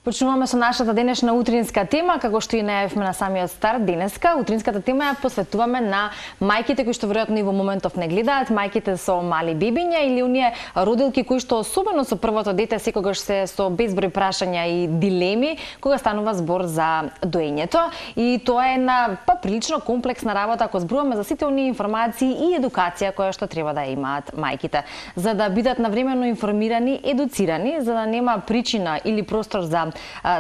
Почнуваме со нашата денешна утринска тема, како што и најавивме на самиот старт денеска. Утринската тема ја посветуваме на мајките кои што веројатно и во моментов не гледаат, мајките со мали бебиња или оние родилки кои што особено со првото дете секогаш се со безброј прашања и дилеми кога станува збор за доењето. И тоа е една прилично комплексна работа ако зборуваме за сите оние информации и едукација која што треба да имаат мајките, за да бидат навремено информирани, едуцирани, за да нема причина или простор за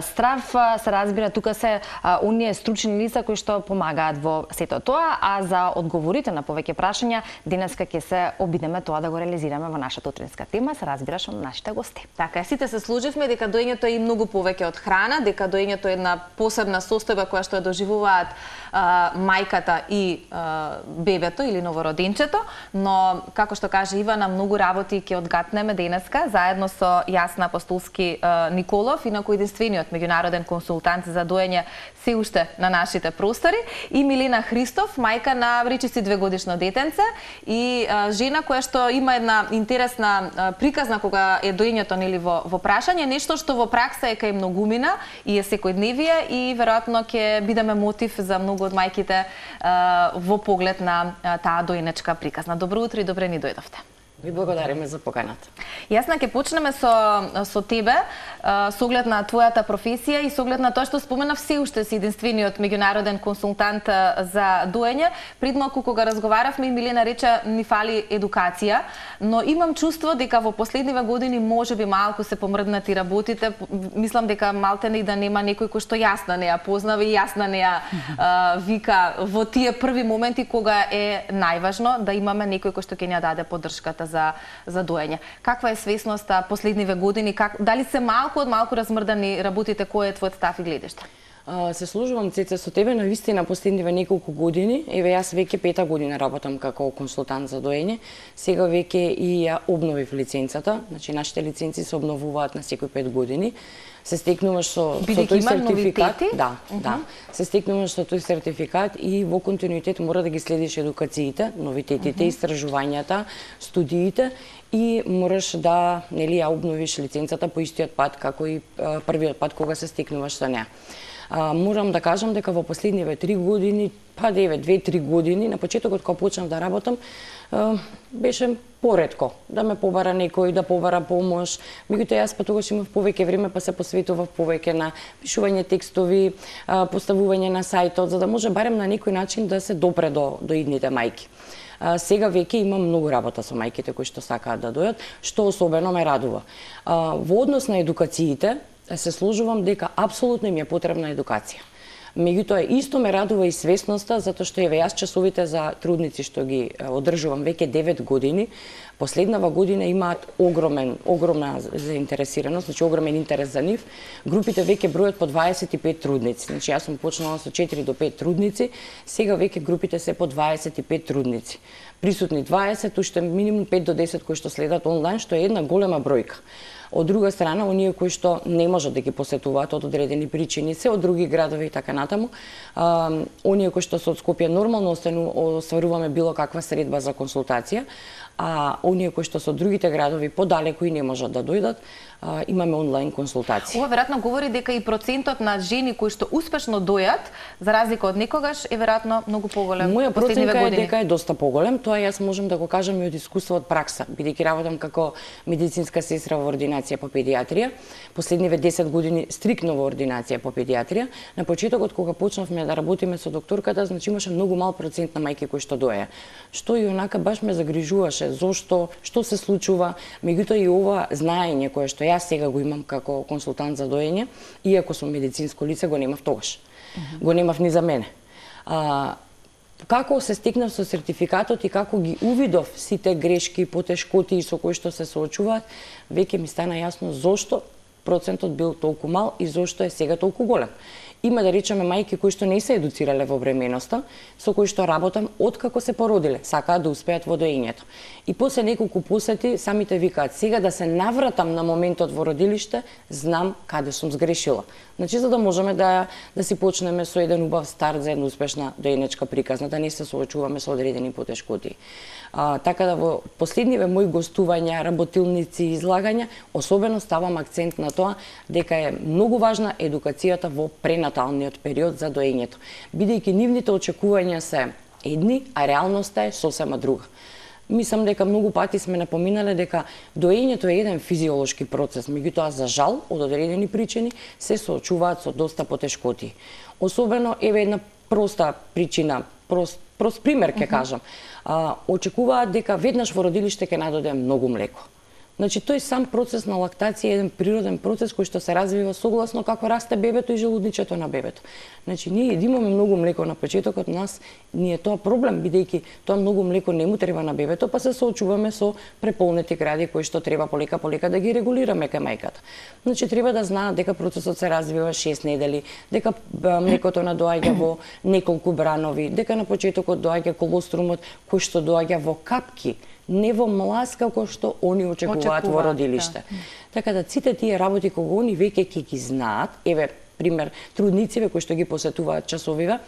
страв, се разбира, тука се оние стручни лица кои што помагаат во сето тоа, а за одговорите на повеќе прашања денеска ќе се обидеме тоа да го реализираме во нашата утринска тема, се разбира со нашите гости. Така, сите се служивме дека доењето е и многу повеќе од храна, дека доењето е една посебна состојба која што ја доживуваат мајката и бебето или новороденчето, но како што каже Ивана, многу работи ќе одгатнеме денеска заедно со Јасна Апостолски Николов, инаку единствениот меѓународен консултант за доење се уште на нашите простори, и Милена Христов, мајка на речиси 2-годишно детенце и жена која што има една интересна приказна кога е доењето нели во прашање, нешто што во пракса е кај многумина и е секојдневие и веројатно ќе бидеме мотив за многу од мајките во поглед на таа доенечка приказна. Добро утро и добре ни дојдовте. Ви благодариме за поканата. Јасна, ќе почнеме со тебе, со оглед на твојата професија и со оглед на тоа што споменав, се уште си единствениот меѓународен консултант за доење. Пред малку кога разговаравме, Милена рече ни фали едукација, но имам чувство дека во последниве години можеби малку се помрднати работите. Мислам дека малтене и да нема некој кој што Јасна не ја познава и Јасна не ја вика во тие први моменти кога е најважно да имаме некој кој што ќе ни ја даде поддршката за доење. Каква е свесноста последниве години? Дали се малку од малку размрдани работите? Кој е твојот став и гледиште? Се служувам, Цеце, со тебе, навистина последниве неколку години. Еве, јас веќе 5-та година работам како консултант за доење. Сега веќе и ја обновив лиценцата. Значи, нашите лиценци се обновуваат на секои 5 години. Се стекнуваш со тој сертификат. Да. Се стекнуваш со тој сертификат и во континуитет мора да ги следиш едукациите, новитетите, истражувањата, студиите и мораш да нели ја обновиш лиценцата по истиот пат како и првиот пат кога се стекнуваш со неа. Морам да кажам дека во последниве 3 години, 2-3 години, на почетокот кога почнав да работам, беше поретко да ме побара некој, да побара помош. Меѓутоа јас тогаш имав повеќе време, па се посветував повеќе на пишување текстови, поставување на сајтот, за да може барем на некој начин да се допре до идните мајки. Сега веќе имам многу работа со мајките кои што сакаат да дојат, што особено ме радува. Во однос на едукациите, се служувам дека апсолутно им е потребна едукација. Меѓутоа, исто ме радува и свесноста, затоа што еве јас часовите за трудници што ги одржувам веќе 9 години, последнава година имаат огромна заинтересираност, значи огромен интерес за нив. Групите веќе бројат по 25 трудници. Значи јас сум почнала со 4 до 5 трудници, сега веќе групите се по 25 трудници. Присутни 20, уште минимум 5 до 10 кои што следат онлайн, што е една голема бројка. Од друга страна, оние кои што не можат да ги посетуваат од одредени причини, се од други градови и така натаму, оние кои што се од Скопје нормално остваруваме било каква средба за консултација, а оние кои што се од другите градови подалеку и не можат да дојдат, имаме онлайн консултации. Ова веројатно говори дека и процентот на жени кои што успешно дојат, за разлика од некогаш, е веројатно многу поголем. Моја проценка е дека е доста поголем, тоа јас можам да го кажам и од искуство од пракса, бидејќи работам како медицинска сестра во ординација по педиатрија, последниве 10 години стрикно во ординација по педиатрија. На почетокот кога почнавме да работиме со докторката, значи имаше многу мал процент на мајки кои што доеја, што и онака баш ме загрижуваше, зошто, што се случува. Меѓутоа и ова знаење кое што јас сега го имам како консултант за доење, иако сум медицинско лице, го немав тогаш. Го немав ни за мене. Како се стекнав со сертификатот и како ги увидов сите грешки, потешкоти со кои што се соочуваат, веќе ми стана јасно зошто процентот бил толку мал и зошто е сега толку голем. Има да речеме мајки кои што не се едуцирале во бременоста, со кои што работам откако се породиле, сакаат да успеат во доењето. И после неколку посети самите викаат сега да се навратам на моментот во родилиште, знам каде сум сгрешила. Значи за да можеме да си почнеме со еден убав старт за една успешна доенечка приказна, да не се соочуваме со одредени потешкоти. Така да во последниве мои гостувања, работилници и излагања, особено ставам акцент на тоа дека е многу важна едукацијата во пренаталниот период за доењето, бидејќи нивните очекувања се едни, а реалноста е сосема друга. Мислам дека многу пати сме напоминале дека доењето е еден физиолошки процес, меѓутоа за жал од одредени причини се соочуваат со доста потешкоти. Особено еве една проста причина, прост пример ќе кажам. Очекуваат дека веднаш во родилиште ќе надоде многу млеко. Значи, тој сам процес на лактација е еден природен процес кој што се развива согласно како расте бебето и желудничето на бебето. Значи, ние имаме многу млеко на почетокот, нас ни е тоа проблем, бидејќи тоа многу млеко не му треба на бебето, па се соочуваме со преполнети гради кои што треба полека да ги регулираме кај мајката. Значи, треба да знаат дека процесот се развива 6 недели, дека млекото надоаѓа во неколку бранови, дека на почетокот доаѓа колострумот кој што доаѓа во капки, не во млас како што они очекуваат во родилиште. Да. Така да сите тие работи кога они веќе ќе ги знаат, еве пример труднициве кои што ги посетуваат часовиве,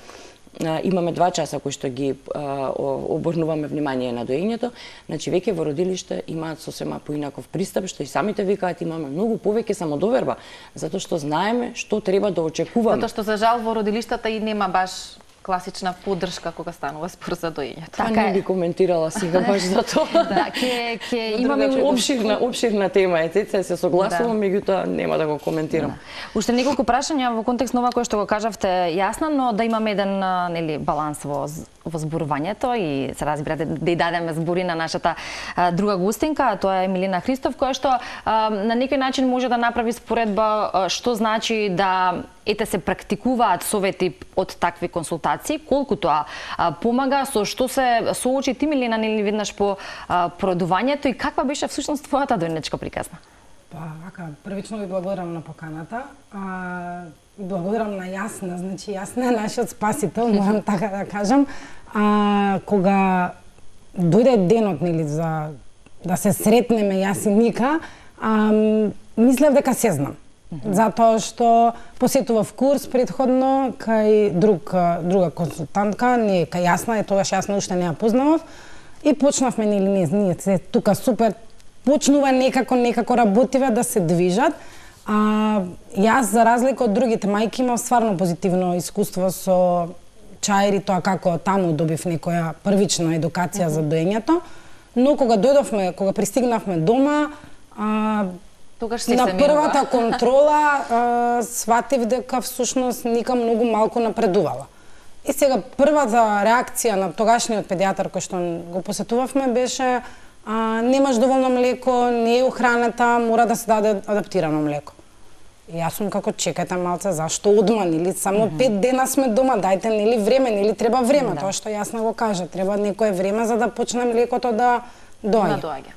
имаме 2 часа кои што ги обрнуваме внимание на доењето, значи веќе во родилиште имаат сосема поинаков пристап, што и самите викаат имаме многу повеќе самодоверба, затоа што знаеме што треба да очекуваме. Затоа што за жал во родилиштата и нема баш класична поддршка кога станува спор за доењето. Така не би коментирала сега баш за тоа. Да, ќе имаме обширна тема е, Цеца, се согласувам, меѓутоа нема да го коментирам. Уште неколку прашања во контекст на ова кое што го кажавте јасно, но да имаме еден баланс во зборувањето и се разбирате да и дадеме збори на нашата друга гостинка, тоа е Милена Христов, која што на некој начин може да направи споредба што значи да се практикуваат совети од такви консултации, колку тоа помага, со што се соочи ти, Милена, нели веднаш по породувањето и каква беше всушност твојата доенечка приказна? Вака, првично ви благодарам на поканата. Благодарам на Јасна, значи Јасна е нашиот спасител, морам така да кажам. Кога дојде денот, нели, за да се сретнеме јас и Ника, мислев дека се знам. Затоа што посетував курс предходно кај друга консултантка, не кај Јасна, тогаш Јасна уште не ја познавав, и почнавме, нели, ние се тука супер, почнува некако работиве да се движат. Јас, за разлика од другите мајки, имам стварно позитивно искуство со чаир и тоа како таму добив некоја првична едукација за доењето, но кога пристигнавме дома, на првата контрола сватив дека всушност Ника многу малку напредувала. И сега првата реакција на тогашниот педијатар кој што го посетувавме беше немаш доволно млеко, не е ухраната, мора да се даде адаптирано млеко. И јас сум како чекајте малце, зашто одма, нели само 5 дена сме дома, дајте нели време, нели треба време, тоа што Јасна го кажа, треба некое време за да почне млекото да доаѓа.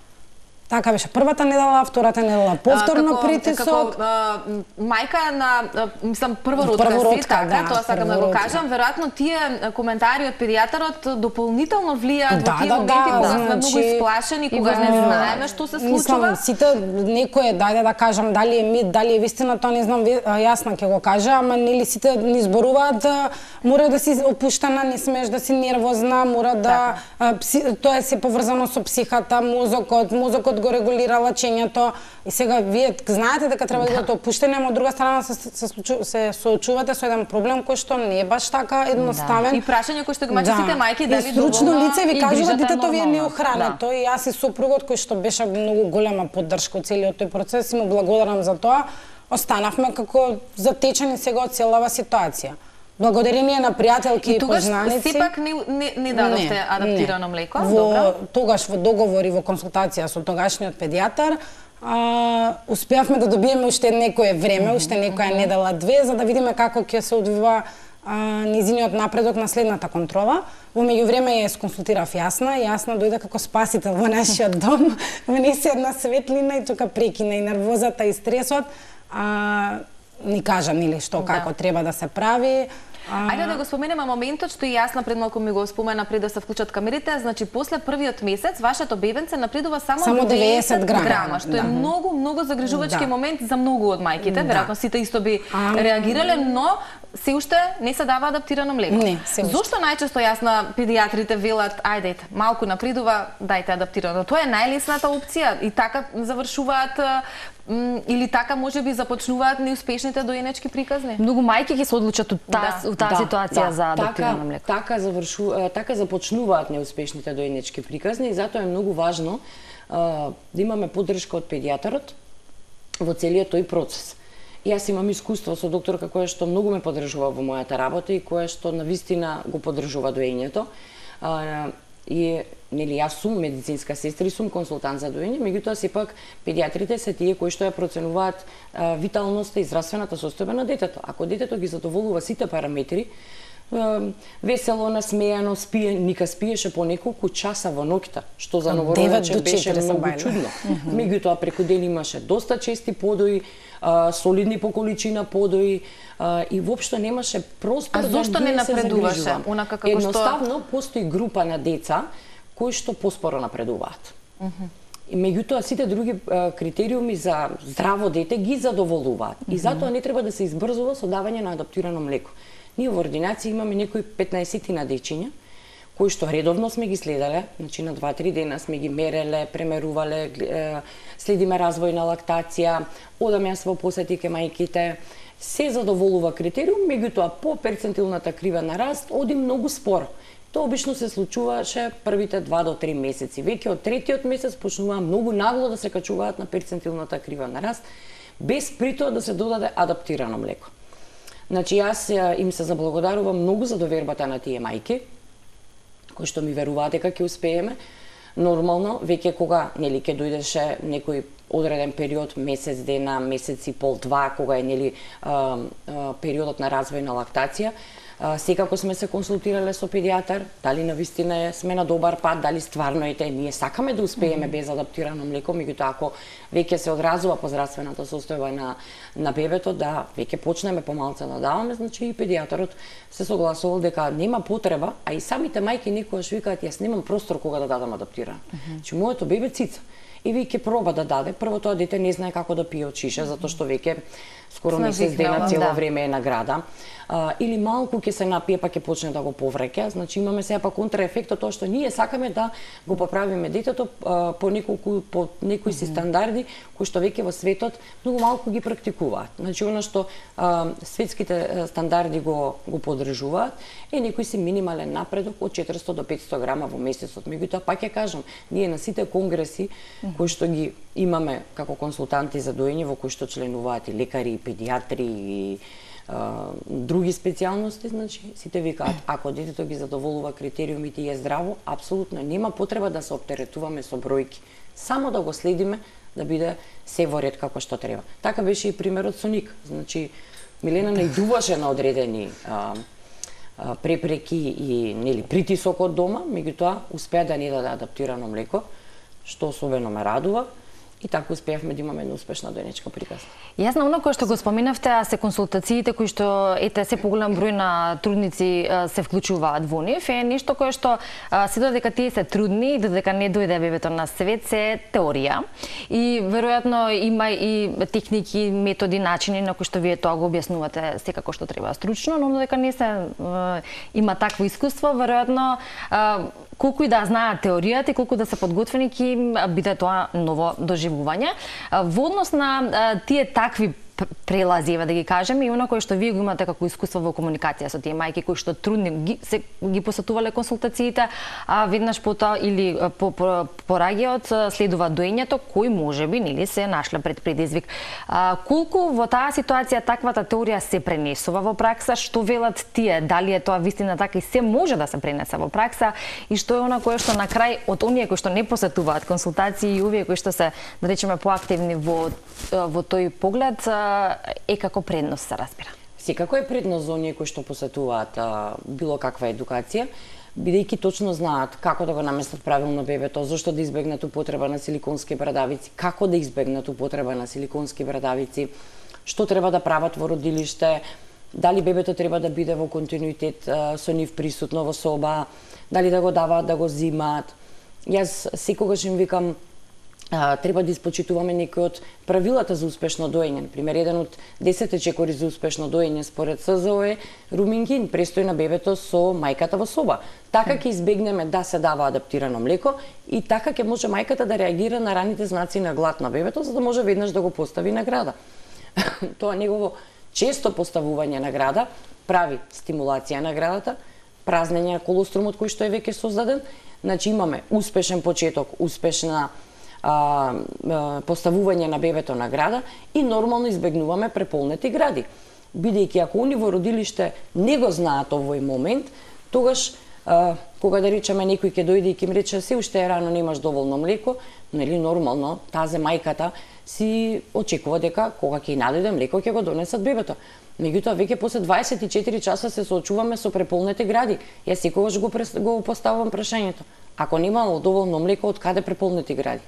Така беше првата недела, втората недела повторно притисок. Како мајка на, мислам, првородка си, така, тоа сакам да го кажам, веројатно тие коментари од педијатарот дополнително влијаат во тие моменти кога сме многу исплашени, кога не знаеме што се случува. Мислам, сите некој, дајде да кажам, дали е мит, дали е вистина, тоа не знам, Јасна ќе го каже, ама нели сите ни зборуваат, мора да си опуштена, не смееш да си нервозна, мора да тоа е се поврзано со психата, мозокот го регулира лачењето и сега вие знаете дека треба да бидете опуштени, ама од друга страна се соочувате со еден проблем кој што не е баш така едноставен. И прашање кој што го мачат сите мајки дали стручно лице ви кажува детето ви е неохрането и јас и сопругот кој што беше многу голема поддршка од целиот тој процес и му благодарам за тоа. Останавме како затечени сега од целава ситуација. Благодарение на пријателки и познаници. И сепак не дадовте адаптирано млеко? Тогаш во договор и во консултација со тогашниот педијатар успеавме да добиеме уште некое време, уште некоја недела, 2, за да видиме како ќе се одвива низиниот напредок на следната контрола. Во меѓувреме ја сконсултирав Јасна. Јасна дојде како спасител во нашиот дом, внесе една светлина и тука прекина и нервозата и стресот. ни кажа нели што како треба да се прави. Ајде да го споменеме моментот што и јас пред малку ми го спомена пред да се вклучат камерите, значи после првиот месец вашето бебенце напредува само 90 грама, што е многу загрижувачки момент за многу од мајките, веројатно сите исто би реагирале, но се уште не се дава адаптирано млеко. Зошто најчесто јас на педијатрите велат, ајде, малку напредува, дајте адаптирано. Тоа е најлесната опција и така завршуваат или така можеби започнуваат неуспешните доенечки приказни. Многу мајки ќе се одлучат у таа ситуација за адаптирано млеко. Така започнуваат неуспешните доенечки приказни и затоа е многу важно да имаме поддршка од педијатарот во целиот тој процес. Јас имам искуство со докторка која што многу ме поддржува во мојата работа и која што навистина го поддржува доењето. И нели јас сум медицинска сестра и сум консултант за доење, меѓутоа сепак педијатрите се тие кои што ја проценуваат виталноста и здравствената состојба на детето. Ако детето ги задоволува сите параметри, весело, насмејано, ника спиеше по неколку часа во ноќта, што за новородече беше многу чудно. Меѓутоа преку ден имаше доста чести подои, солидни по количина подои и воопшто немаше простор да зошто не напредуваше? Едноставно постои група на деца кои што поспоро напредуваат. И меѓутоа сите други критериуми за здраво дете ги задоволуваат. И затоа не треба да се избрзува со давање на адаптирано млеко. Ние во ординација имаме некои 15 дечиња кои што редовно сме ги следеле, значи на 2-3 дена сме ги мереле, премерувале, следиме развој на лактација, одаме јас во посети ке мајките, се задоволува критериум, меѓутоа по перцентилната крива на раст оди многу споро. Тоа обично се случуваше првите 2 до 3 месеци. Веќе од третиот месец почнуваа многу нагло да се качуваат на перцентилната крива на раст, без притоа да се додаде адаптирано млеко. Значи јас им се заблагодарувам многу за довербата на тие мајки, кои што ми веруваат дека ќе успееме. Нормално, веќе кога нели ќе дојдеше некој одреден период, месец дена, месец и пол, два, кога е нели периодот на развој на лактација, секако сме се консултирале со педијатар, дали навистина сме на добар пат, дали стварно ние сакаме да успееме без адаптирано млеко, меѓутоа ако веќе се одразува по здравствената состојба на бебето, да веќе почнеме помалку да даваме, значи и педијатарот се согласувал дека нема потреба, а и самите мајки некогаш викаат јас немам простор кога да дадам адаптирано. Значи моето бебе цица и веќе проба да даде. Прво тоа дете не знае како да пие од шише, затоа што веќе скоро месец дена цело време е на града. Или малку ќе се напие па ќе почне да го повреќа, значи имаме сега па контраефектот тоа што ние сакаме да го поправиме детето по некои си стандарди кои што веќе во светот многу малку ги практикуваат. Значи она што светските стандарди го поддржуваат е некој си минимален напредок од 400 до 500 грама во месецот. Меѓутоа пак ќе кажам, ние на сите конгреси кои што ги имаме како консултанти за доење, во кои што членуваат и лекари, и педијатри, и други специјалности, значи сите викаат ако детето ги задоволува критериумите и е здраво, апсолутно нема потреба да се оптеретуваме со бројки. Само да го следиме да биде се во ред како што треба. Така беше и примерот со Ник. Значи Милена најдуваше на одредени препреки и нели притисок од дома, меѓутоа успеа да ни даде адаптирано млеко, што особено ме радува. И така успеавме да имаме една успешна доенечка приказна. Јас на оно кое што го споминавте, се консултациите кои што се поголем број на трудници се вклучуваат во нив, е нешто кое што се додека тие се трудни и додека не дојде бебето на свет се теорија. И веројатно има и техники, методи, начини на кои што вие тоа го објаснувате секако што треба стручно, но додека не се има такво искуство, веројатно колку и да знаат теоријата и колку да се подготвени ќе биде тоа ново доживување. Во однос на тие такви прелази, да ги кажеме, и оно кое што вие го имате како искуство во комуникација со тие мајки кои што трудни ги посетувале консултациите, а веднаш потоа или пораѓајот следува доењето, кој можеби нели се нашле пред предизвик. Колку во таа ситуација таквата теорија се пренесува во пракса, што велат тие, дали е тоа вистина така и се може да се пренесе во пракса и што е она кое што на крај од оние кои што не посетуваат консултации и овие кои што се, да речеме, поактивни во тој поглед, е како предност, се разбира. Секако е предност за оние кои што посетуваат било каква едукација, бидејќи точно знаат како да го наместат правилно бебето, зошто да избегнат употреба на силиконски брадавици, како да избегнат употреба на силиконски брадавици, што треба да прават во родилиште, дали бебето треба да биде во континуитет со нив присутно во соба, дали да го даваат, да го зимаат. Јас секогаш им викам, треба да испочитуваме некои од правилата за успешно доење. Например, еден од 10 чекори за успешно доење според СЗО е румингин, престој на бебето со мајката во соба. Така ќе избегнеме да се дава адаптирано млеко и така ќе може мајката да реагира на раните знаци на глад на бебето, за да може веднаш да го постави на града. Тоа негово често поставување на града прави стимулација на градата, празнење на колострумот кој што е веќе создаден. Значи имаме успешен почеток, успешна поставување на бебето на града и нормално избегнуваме преполнети гради. Бидејќи ако они во родилиште не го знаат овој момент, тогаш кога да речеме некој ќе дојде и ќе им рече се уште е рано, немаш доволно млеко, нели нормално тазе мајката си очекува дека кога ќе најде млеко ќе го донесат бебето. Меѓутоа веќе после 24 часа се соочуваме со преполнети гради. Јас секогаш го поставувам прашањето. Ако немало доволно млеко, од каде преполнети гради?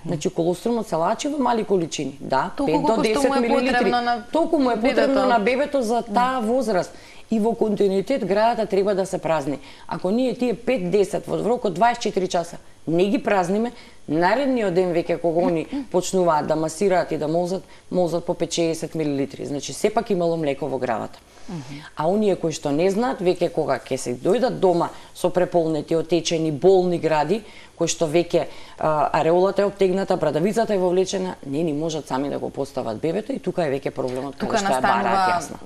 Значи колострумот се лачи во мали количини. Да, 5 до 10 милилитри. Толку му е потребно на бебето за таа возраст. И во континуитет градата треба да се празни. Ако ние тие 5-10 во рок од 24 часа не ги празниме, наредниот ден веќе кога они почнуваат да масираат и да молзат по 5-60 милилитри. Значи сепак имало млеко во градата. А оние кои што не знаат, веќе кога ќе се дојдат дома со преполнети, отечени, болни гради, кои што веќе ареолата е обтегната, брадавицата е вовлечена, не ни можат сами да го постават бебето и тука е веќе проблемот каде што ја бараат јасна.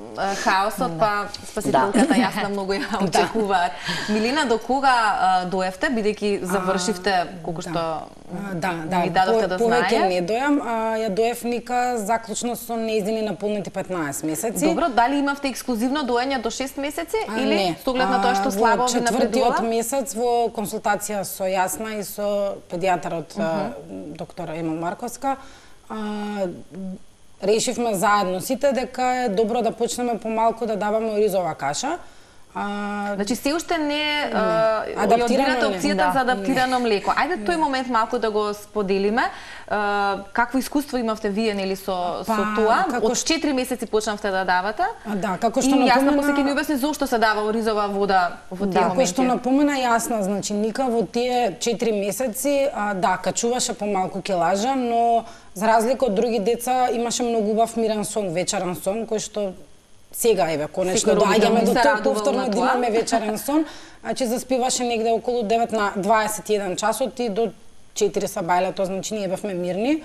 Хаосот, па спасителката јасна многу ја очекуваат. Милина, до кога доевте, бидејќи завршивте колку што ми дадовте да знае? Повеќе не дојам, ја доев Ника заклучно со нејзини наполнети 15 месеци. Добро, дали имавте ексклузивно доење до 6 месеци или со оглед на тоа што слабо ви напредува? Во 4-тиот месец во консултација со Јасна и со педијатарот доктор Емил Марковска решивме заедно сите дека е добро да почнеме помалку да даваме оризова каша. Значи се уште не одбирате опцијата за адаптирано млеко. Ајде тој момент малку да го споделиме. Какво искуство имавте вие нели со тоа? Од 4 месеци почнавте да давате? Да, како што напомена. И Јасна после ќе ми објасни зошто се дава оризова вода во тие моменти. Како што напомена Јасна, значи Ника во тие 4 месеци качуваше помалку килажа, но за разлика од други деца имаше многу убав мирен сон, вечерен сон, кој што сега еве конечно доаѓаме до тоа повторно да имаме вечерен сон, значи заспиваше негде околу 9 на 21 часот и до 4 са бајлето, значи ние бевме мирни.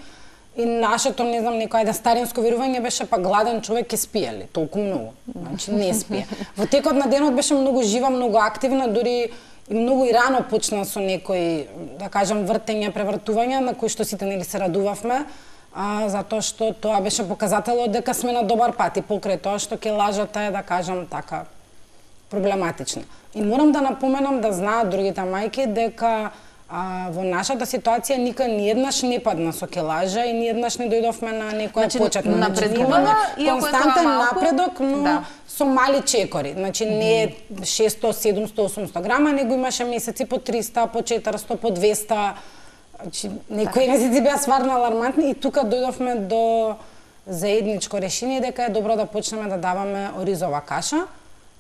И нашето, не знам, некој да старинско верување беше па гладен човек ќе спие ли, толку многу. Значи не спие. Во текот на денот беше многу жива, многу активна, дури и многу и рано почна со некои, да кажам, вртења, превртувања на кои што сите нели се радувавме. Затоа што тоа беше показателот дека сме на добар пат и покрај тоа што килажата е, да кажам така, проблематична. И морам да напоменам да знаат другите мајки дека во нашата ситуација Ника ниеднаш не падна со килажа и ниеднаш не дојдовме на некоја почетна. Напредувала, константен напредок, но со мали чекори. Значи не 600, 700, 800 грама, него имаше месеци по 300, по 400, по 200. Значи, некои месеци беа стварно алармантни и тука дојдовме до заедничко решение дека е добро да почнеме да даваме оризова каша.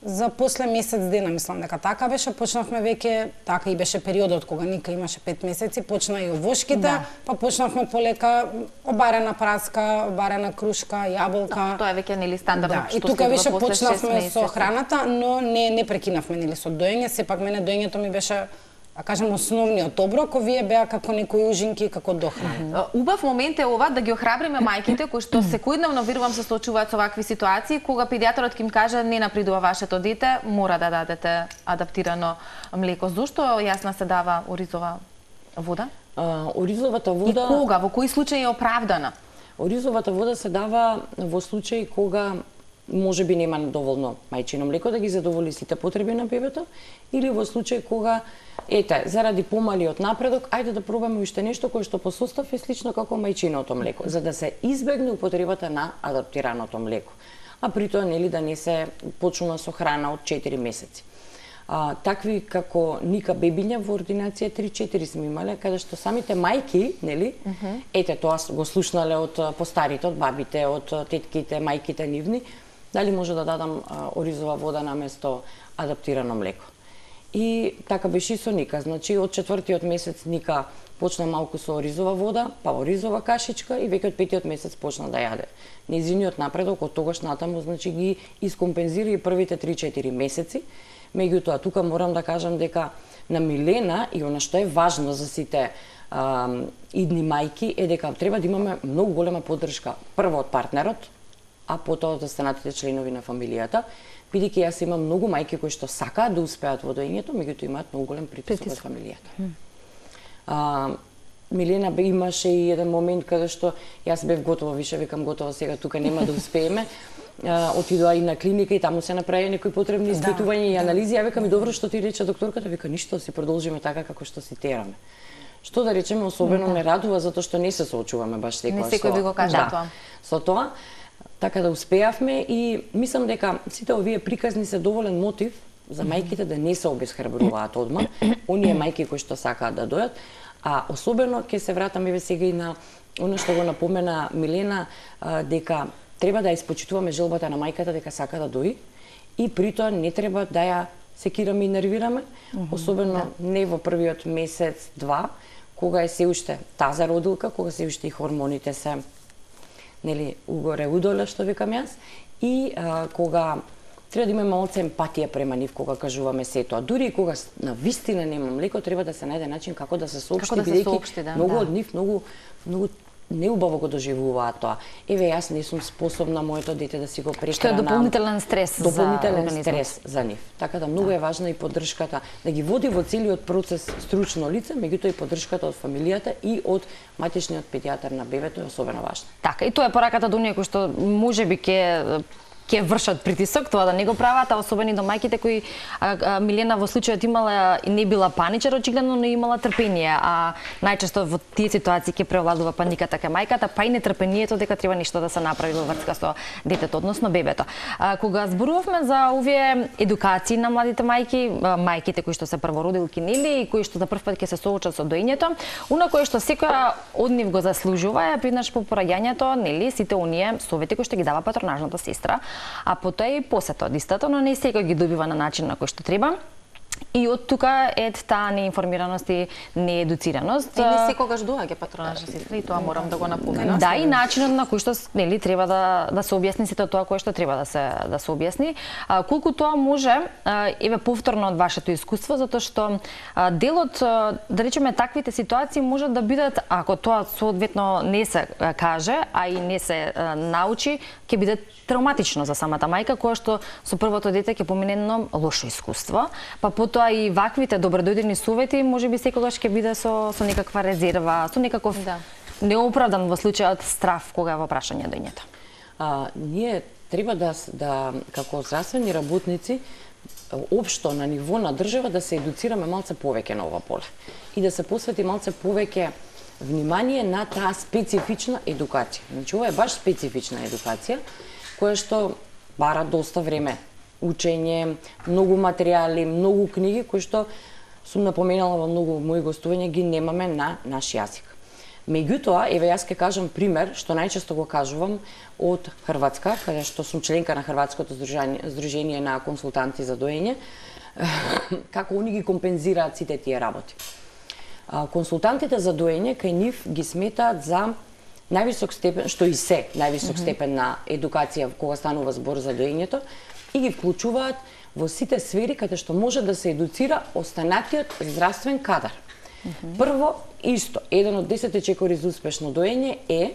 За после месец дена, мислам дека така беше, почнавме веќе, така и беше периодот кога Ника имаше 5 месеци, почна и овошките, па почнавме полека обарена праска, обарена крушка, јаболка. Тоа е веќе нели стандардно што и тука беше почнавме со храната, но не прекинавме нели со доење, сепак мене доењето ми беше, да кажем, основниот оброк, овие беа како некои ужинки, како дохрана. Убав момент е ова да ги охрабриме мајките кои што секојдневно верувам се соочуваат со вакви ситуации, кога педијатарот ќе им каже не напредува вашето дете, мора да дадете адаптирано млеко. Зошто Јасна се дава оризова вода? Оризовата вода... И кога, во кои случаи е оправдана? Оризовата вода се дава во случаи кога може би нема доволно мајчино млеко да ги задоволи сите потреби на бебето, или во случај кога, заради помалиот напредок, ајде да пробаме уште нешто кое што по состав е слично како мајчиното млеко, за да се избегне употребата на адаптираното млеко. А при тоа нели да не се почнува со храна од 4 месеци. такви како Ника бебиња во ординација 3-4 сме имале, каде што самите мајки, нели, ете тоа го слушнале од постарите, од бабите, од тетките, мајките нивни, дали може да дадам оризова вода наместо адаптирано млеко. И така беше и со Ника, значи од 4-тиот месец Ника почна малку со оризова вода, па оризова кашичка и веќе од 5-тиот месец почна да јаде. Нејзиниот напредок од тогаш натаму, значи ги искомпензира и првите 3-4 месеци. Меѓутоа, тука морам да кажам дека на Милена и она што е важно за сите идни мајки е дека треба да имаме многу голема поддршка прво од партнерот, а потоа од останатите членови на фамилијата, бидејќи јас имам многу мајки кои што сакаат да успеат во доењето, меѓутоа имаат многу голем притисок од фамилијата. Милена имаше и еден момент каде што јас бев готова, више викам готова сега тука нема да успееме. Отидоа и на клиника и таму се направи некои потребни испитувања и анализи. Ја викам и добро што ти рече докторката, вика ништо, си продолжиме така како што си тераме. Што да речеме особено не радува затоа што не се соочуваме баш секогаш. Не секој би го кажа тоа. Со тоа така да успеавме и мислам дека сите овие приказни се доволен мотив за мајките да не се обесхрабруваат одма, оние мајки кои што сакаат да дојат, а особено ќе се вратам еве сега и на она што го напомена Милена, дека треба да ја испочитуваме желбата на мајката дека сака да дои и при тоа не треба да ја секираме и нервираме, особено не во првиот месец, два, кога е се уште таза родилка, кога се уште и хормоните се нели угоре удоле што викам јас и кога треба да имаме малце емпатија према нив кога кажуваме сето, а дури и кога на вистина нема млеко, треба да се најде начин како да се соопшти, бидејќи многу од нив многу неубаво го доживуваат тоа. Еве јас не сум способна моето дете да си го прехранам. Што е дополнителен стрес за организмот. Стрес за нив. Така да многу е важна и поддршката да ги води во целиот процес стручно лице, меѓутоа и поддршката од фамилијата и од матичниот педијатар на бебето е особено важна. Така, и тоа е пораката до оние кои што можеби ќе вршат притисок, тоа да не го прават, а особено до мајките кои Милена во случајот имала и не била паничар очигледно, но имала трпение, а најчесто во тие ситуации ќе превладува паниката кај мајката, па и нетрпението дека треба нешто да се направи во врска со детето, односно бебето. Кога зборувавме за овие едукации на младите мајки, мајките кои што се првородилки нели и кои што за прв пат ќе се соочат со доењето, она кое што секоја од нив го заслужува е приднаш по пораѓањето, нели сите оние совети кои што ги дава патронажната сестра, а потоа и посета од истата, но не секој ги добива на начин на кој што треба. И од тука е таа неинформираност и неедуцираност. И не секогаш доаѓа патронажна сестра и тоа морам да го напоменам. Да, и начинот на кој што нели треба да се објасни сето тоа кое што треба да се објасни. Колку тоа може еве повторно од вашето искуство, затоа што делот да речеме таквите ситуации може да бидат, ако тоа соодветно не се каже, а и не се научи, ќе биде травматично за самата мајка која што со првото дете ќе помине едно лошо искуство, па потоа и ваквите добродојдени совети можеби секогаш ќе биде со некаква резерва, со некаков неоправдан во случајот страв кога е во прашање доењето. Ние треба да како здравствени работници општо на ниво на држава да се едуцираме малце повеќе на ова поле и да се посвети малце повеќе внимание на таа специфична едукација. Значи ова е баш специфична едукација која што бара доста време, учење, многу материјали, многу книги кои што сум напоменала во многу мои гостувања ги немаме на наш јазик. Меѓутоа, еве јас ќе кажам пример што најчесто го кажувам од Хрватска, каде што сум членка на Хрватското здружение на консултанти за доење, како они ги компензираат сите тие работи. Консултантите за доење кај нив ги сметаат за највисок степен, што и се највисок степен на едукација кога станува збор за доењето, и ги вклучуваат во сите сфери каде што може да се едуцира останатиот здравствен кадар. Прво, исто, еден од 10 чекори за успешно доење е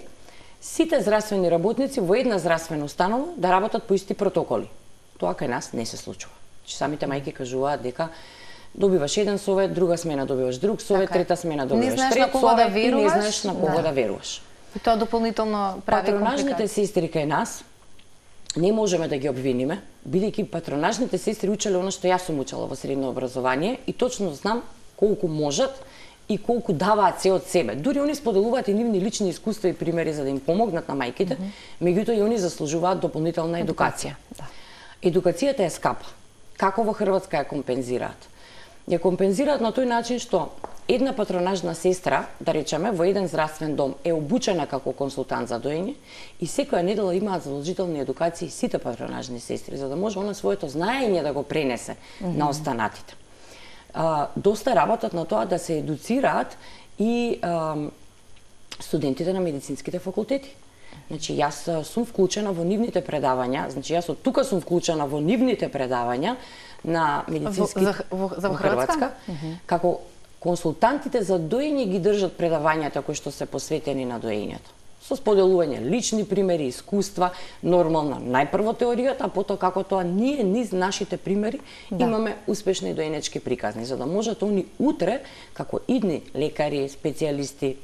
сите здравствени работници во една здравствена установа да работат по исти протоколи. Тоа кај нас не се случува. Самите мајки кажуваат дека добиваш еден совет, друга смена добиваш друг совет, трета смена добиваш трет совет и не знаеш на кого да веруваш. И тоа дополнително прави компликации. Патронажните сестри кај нас не можеме да ги обвиниме, бидејќи патронажните сестри учеле она што јас сум учела во средно образование и точно знам колку можат и колку даваат се од себе. Дури они споделуваат и нивни лични искуства и примери за да им помогнат на мајките, меѓутоа и они заслужуваат дополнителна едукација. Едукацијата е скапа. Како во Хрватска ја компензираат? Ја компензираат на тој начин што една патронажна сестра, да речеме, во еден здравствен дом е обучена како консултант за доење и секоја недела имаат задолжителни едукации сите патронажни сестри, за да може она своето знаење да го пренесе на останатите. Доста работат на тоа да се едуцираат и студентите на медицинските факултети. Значи, јас сум вклучена во нивните предавања, значи јас од тука сум вклучена во нивните предавања на медицински за Хрватска, како консултантите за доење ги држат предавањата кои што се посветени на доењето. Со споделување лични примери, искуства, нормална најпрво теоријата, а потоа како тоа ние низ нашите примери имаме успешни доенечки приказни, за да можат они утре како идни лекари, специјалисти,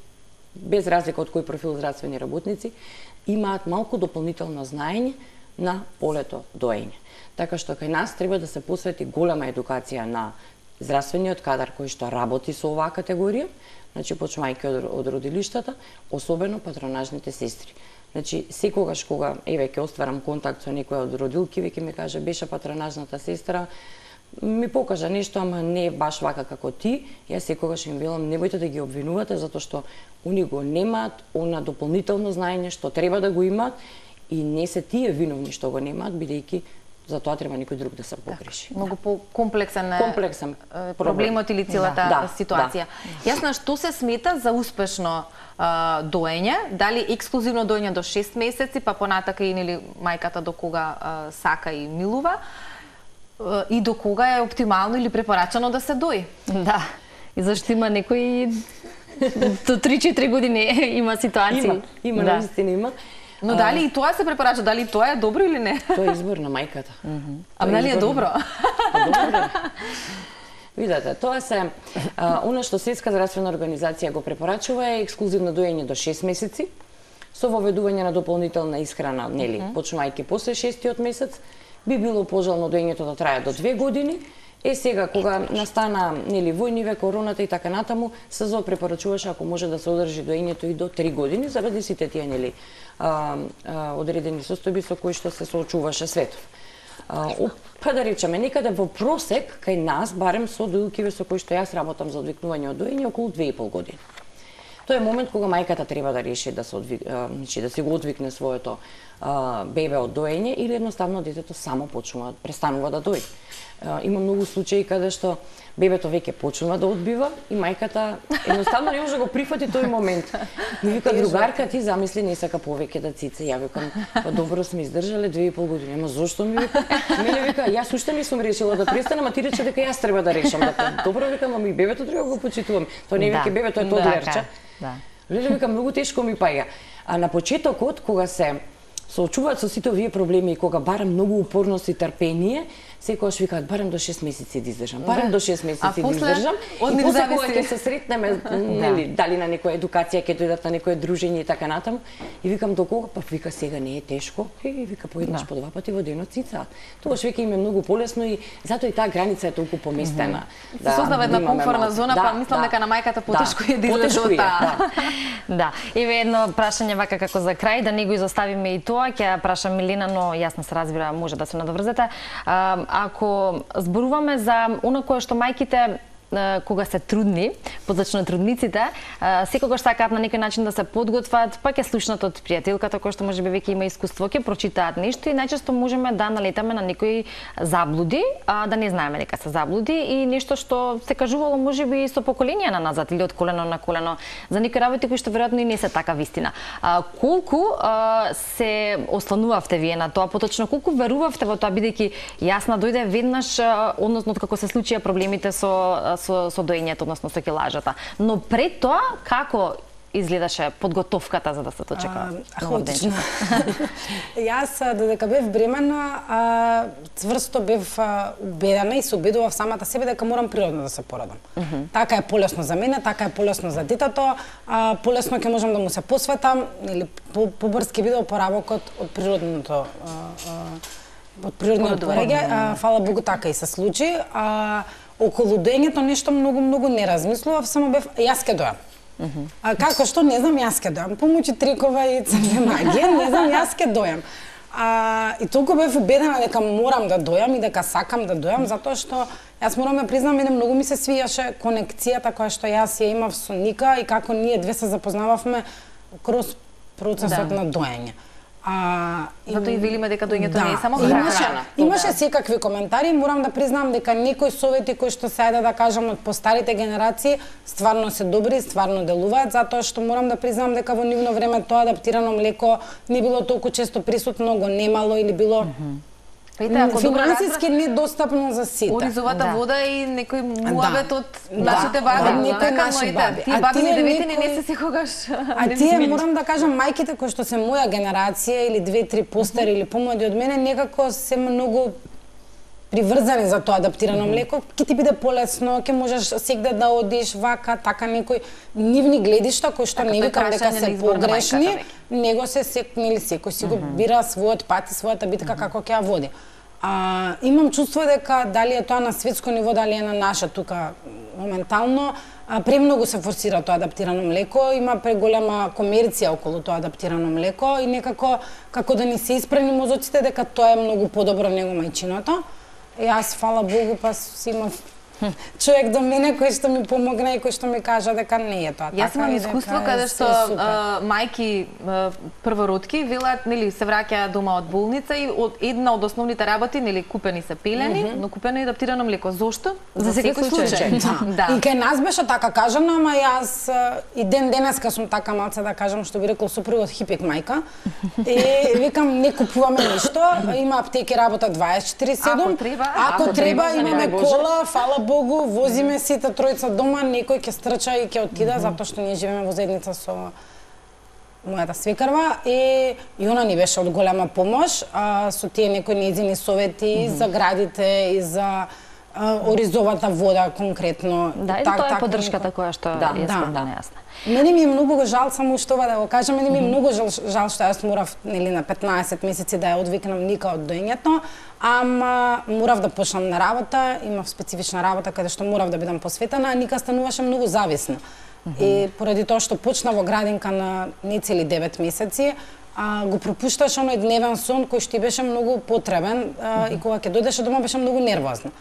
без разлика од кој профил здравствени работници, имаат малку дополнително знаење на полето доење. Така што кај нас треба да се посвети голема едукација на здравствениот кадар кој што работи со оваа категорија, значи почнувајќи од родилиштата, особено патронажните сестри. Значи секогаш кога ќе остварам контакт со некоја од родилки, веќе ми каже беше патронажната сестра, ми покажа нешто, ама не е баш вака како ти, јас секогаш им велам немојте да ги обвинувате затоа што они го немаат она дополнително знаење што треба да го имаат и не се тие виновни што го немаат, бидејќи за тоа треба некој друг да се погреши. Многу по-комплексен проблемот или целата ситуација. Јас што се смета за успешно доење, дали ексклузивно доење до 6 месеци, па понатака и нели мајката до кога сака и милува, и до кога е оптимално или препорачано да се дои. Да. И зашто има некои до 3-4 години има ситуации. Има, наистина има. Но дали и тоа се препорача, дали тоа е добро или не? Тоа е избор на мајката. А дали е добро? Видете, тоа се она што Светска здравствена организација го препорачува е ексклузивно доење до 6 месеци со воведување на дополнителна исхрана, нели, почнувајќи после 6-тиот месец, би било пожелно доењето да трае до 2 години. Сега кога настана нели војниве, короната и така натаму, СЗО препорачуваше ако може да се одржи доењето и до 3 години заради сите тие нели одредени состојби со кои што се соочуваше светов. Па да речеме, некаде во просек кај нас, барем со доилкиве со кои што јас работам за одвикнување од доење, околу 2,5 години. Тоа е момент кога мајката треба да реши да се го одвикне своето бебе од доење или едноставно детето само престанува да дои. Има многу случаи каде што бебето веќе почнува да одбива и мајката едноставно не може да го прифати тој момент. Ми вика другарка, ти замисли не сака повеќе да цице. Ја викам, па добро сме издржале 2,5 години. Ама зошто ми вика? Мене вика, јас уште не сум решила да престанам, а ти рече дека јас треба да решам. Добро викам, ами бебето треба да го почитувам. Тоа не веќе бебето е тодлерче. Леле вика, многу тешко ми паѓа. А на почетокот кога се соочуваат со сите овие проблеми и кога барам многу упорност и трпение, секогаш викаат барам до 6 месеци да издржам, барам до 6 месеци да издржам. И после кога ќе се сретнеме, нели, дали на некоја едукација, ќе дојдат на некое дружење и така натаму, и викам до кога, па вика сега не е тешко, и вика поеднаш по 2 пати во денот цицаат. Тогаш веќе им е многу полесно и затоа и таа граница е толку поместена. Се создава една комфортна зона, па мислам дека на мајката потешко е да излезе од таа. Да. Еве едно прашање вака како за крај, да не го изоставиме и тоа, ќе прашам Милена, но јасно се разбира, може да се надоврзете. Ако зборуваме за она кое што мајките кога се трудни, позачно трудниците, секогаш сакаат на некој начин да се подготват, па ќе слушнат од пријателката која што можеби веќе има искуство, ќе прочитаат нешто и најчесто можеме да налетаме на некои заблуди, да не знаеме дека се заблуди и нешто што се кажувало можеби и со поколенија на назад или од колено на колено за некои работи кои што веројатно и не се така вистина. Колку се осланувавте вие на тоа, поточно колку верувавте во тоа, бидејќи јасна дојде веднаш, односно како се случија проблемите со доењето, односно со килажата. Но пред тоа, како изгледаше подготовката за да се дочека новоденчето? Јас, додека бев бремена, цврсто бев убедена и се убедував самата себе дека морам природно да се породам. Така е полесно за мене, така е полесно за детето, полесно ќе можам да му се посветам, или побрз ќе биде опоравокот од природното пореѓе. Фала Богу, така и се случи. Околу доењето нешто многу не размислував, само бев јас ке дојам. Како што не знам, јас ке дојам. Помојчи трикова и црна магија, не знам, јас ке дојам. И толку бев убедена дека морам да дојам и дека сакам да дојам, затоа што јас морам да признам, мене многу ми се свијаше конекцијата која што јас ја имав со Ника и како ние две се запознававме кроз процесот на доење. Затоа и велиме дека доењето не е само храна. Имаше секакви коментари, морам да признам дека некои совети кои што се ајде да кажам од постарите генерации стварно се добри, стварно делуваат, затоа што морам да признам дека во нивно време тоа адаптирано млеко не било толку често присутно, го немало или било финансиски недостапно за сите. Оризовата вода и некој муабет од нашите баби, така моите. Тие баби ни не се секогаш. А тие морам да кажам мајките кои што се моја генерација или 2-3 постари или помлади од мене некако се многу приврзани за тоа адаптирано млеко, ќе ти биде полесно, ќе можеш сегде да одиш вака, така некои нивни гледишта кои што не викам дека се погрешни, него се секнели секој си го бира својот пат и својата битка како ќе ја води. Имам чувство дека дали е тоа на светско ниво, дали е на наше тука моментално, премногу се форсира тоа адаптирано млеко, има преголема комерција околу тоа адаптирано млеко и некако како да ни се испрани мозоците дека тоа е многу подобро него мајчиното. И јас, фала Богу, па си имав човек до мене кој што ми помогна и кој што ми кажа дека не е тоа така. Јас имам искуство каде што мајки првородки велат, нели, се враќаат дома од болница и една од основните работи, нели, купени се пелени, но купено и адаптирано млеко. Зошто? За секој случај. Да. И кај нас беше така кажано, ама јас и денеска сум така малце да кажам, што би рекол супругот хипек мајка. И викам не купуваме ништо, има аптеки работа 24/7. Ако треба имаме кола, фала Богу, возиме сите тројца дома, некој ќе стрча и ќе отида, затоа што ние живееме во заедница со мојата свекрва и она ни беше од голема помош со тие некои нејзини совети за градите и за оризовата вода конкретно. Да, и тоа е поддршката која што ја спомна јасна. Мене ми е многу жал, само уште ова да го кажам, мене ми е многу жал што јас морав, нели, на 15 месеци да ја одвикнам Ника од доењето, ама морав да почнам на работа, имав специфична работа каде што морав да бидам посветена, а Ника стануваше многу зависна. И поради тоа што почна во градинка на нецели 9 месеци, го пропушташе оној дневен сон кој што беше многу потребен и кога ќе дојдеше дома беше многу нервозна.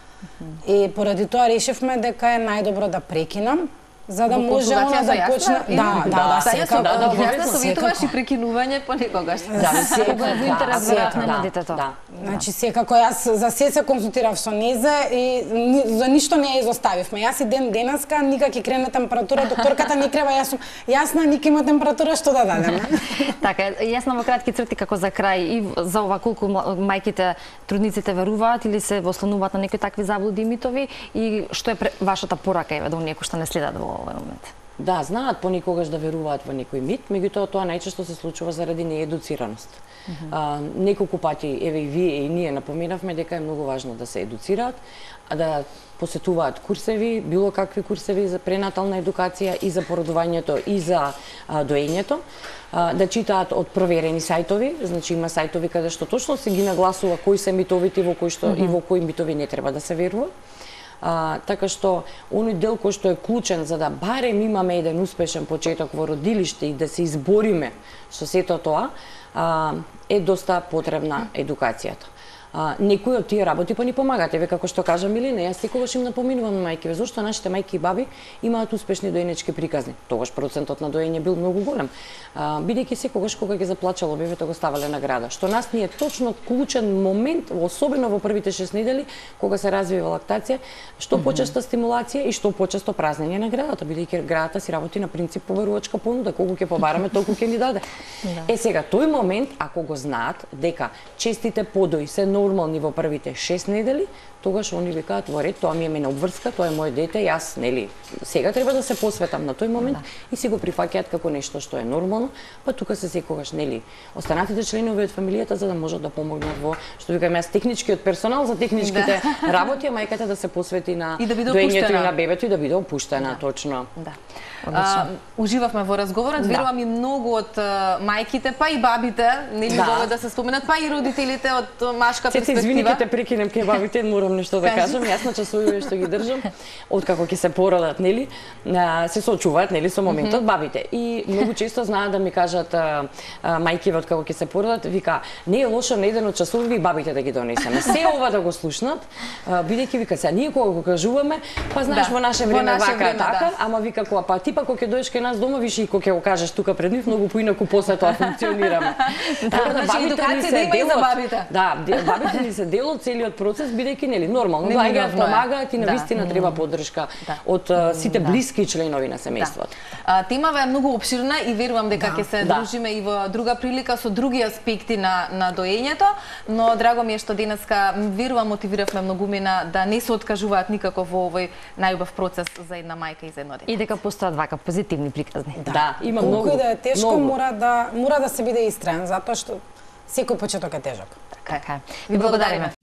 И поради тоа решивме дека е најдобро да прекинам, за да може она да почне. Да, секако. Ја советуваш и прекинување понекогаш. Да, секако е во интерес веројатно на детето. Значи секако јас за се консултирав со незе и за ништо не ја изоставивме. Јас и денеска Ника ќе крене температура, докторката не крева, јас сум јасна, Ника има температура, што да дадеме. Така, јасно во кратки црти како за крај и за ова колку мајките, трудниците веруваат или се ослонуваат на некои такви заблуди и митови и што е вашата порака еве до оние кои што не следат во овој момент? Да, знаат понекогаш да веруваат во некој мит, меѓутоа тоа најчесто се случува заради неедуцираност. Неколку пати, еве и вие и ние напоменавме дека е многу важно да се едуцираат, да посетуваат курсеви, било какви курсеви за пренатална едукација и за породувањето и за доењето, да читаат од проверени сајтови, значи има сајтови каде што точно се ги нагласува кои се митовите во кои што и во кои митови не треба да се верува. Така што оној дел кој што е клучен за да барем имаме еден успешен почеток во родилиште и да се избориме со сето тоа, е доста потребна едукацијата. Некои од тие работи па ни помагаат. Еве како што кажа Милина, јас секогаш им напоминувам на мајкиве зошто нашите мајки и баби имаат успешни доенечки приказни. Тогаш процентот на доење бил многу голем. Бидејќи секогаш кога ги заплачало бебето го ставале на града. Што нас ни е точно клучен момент, особено во првите 6 недели кога се развива лактација, што почеста стимулација и што почесто празнење на градата, бидејќи градата си работи на принцип поверувачка понуда, колку ќе побараме толку ќе ни даде. Сега тој момент ако го знаат дека честите подои се нормални во првите 6 недели, тогаш они викаат во ред, тоа ми е мене обврска, тоа е моје дете, јас, нели, сега треба да се посветам на тој момент и си го прифаќаат како нешто што е нормално, па тука се секогаш, нели, останатите членови од фамилијата за да можат да помогнат во, што викам јас, техничкиот персонал за техничките работи, а мајката да се посвети на доењето и на бебето и да биде опуштена, точно. Уживавме во разговорот, верувам и многу од мајките, па и бабите, нели, да се споменат, па и родителите од машка вашата перспектива. извини, ке те прекинем, ке бабите, морам нешто да кажам. Јас на часовите што ги држам, откако ќе се породат, нели, се соочуваат, нели, со моментот бабите. И многу често знаат да ми кажат мајкиве откако ќе се породат, вика, не е лошо на еден од часовите бабите да ги донесеме. Се ова да го слушнат, бидејќи вика се, ние кога го кажуваме, па знаеш во наше време вака така, ама вика кога па ти па кога ќе дојдеш кај нас дома, виш и кога ќе го кажеш тука пред нив, многу поинаку после тоа функционираме. Така да едукација да има и за бабите. Да, бабите ни се дел од целиот процес, бидејќи нели нормално доаѓаат, помагаат и навистина треба поддршка од сите блиски членови на семејството. Темава е многу опширна и верувам дека ќе се дружиме и во друга прилика со други аспекти на доењето, но драго ми е што денеска верувам мотивиравме многумина да не се откажуваат никако во овој најубав процес за една мајка и за едно дете. И дека постојат вака позитивни приказни. Да, има многу. Колку и да е тешко, мора да се биде истраен, затоа што секој почеток е тежок. Така е. Ви благодариме.